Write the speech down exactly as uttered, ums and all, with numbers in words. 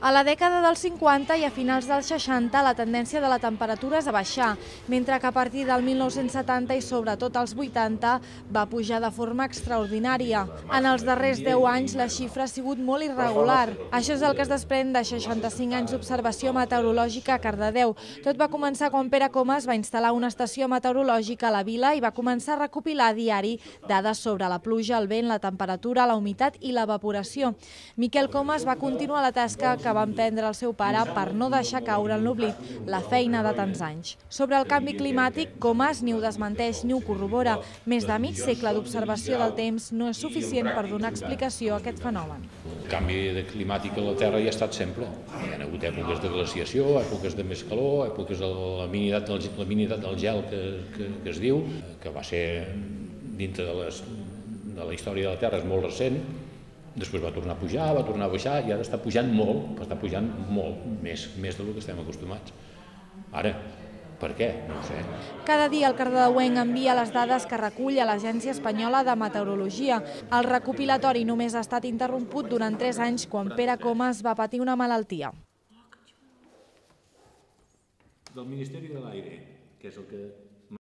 A la dècada dels cinquanta i a finals dels seixanta la tendència de la temperatura és a baixar, mentre que a partir del mil nou-cents setanta i sobretot als vuitanta va pujar de forma extraordinària. En els darrers deu anys la xifra ha sigut molt irregular. Això és el que es desprèn de seixanta-cinc anys d'observació meteorològica a Cardedeu. Tot va començar quan Pere Comas va instal·lar una estació meteorològica a la vila i va començar a recopilar a diari dades sobre la pluja, el vent, la temperatura, la humitat i l'evaporació. Miquel Comas va continuar la tasca que va emprendre el seu pare per no deixar caure en l'oblit la feina de tants anys. Sobre el canvi climàtic, Comas ni ho desmenteix ni ho corrobora. Més de mig segle d'observació del temps no és suficient per donar explicació a aquest fenomen. El canvi climàtic a la Terra hi ha estat sempre. Hi ha hagut èpoques de glaciació, èpoques de més calor, èpoques de la minitat del, la minitat del gel que, que, que es diu, que va ser dintre de, les, de la història de la Terra, és molt recent. Després va tornar a pujar, va tornar a baixar i ara està pujant molt, però està pujant molt, més, més del que estem acostumats. Ara, per què? No ho sé. Cada dia el cardedeuenc envia les dades que recull a l'Agència Espanyola de Meteorologia. El recopilatori només ha estat interromput durant tres anys quan Pere Comas va patir una malaltia. Del Ministeri de l'Aire, que és el que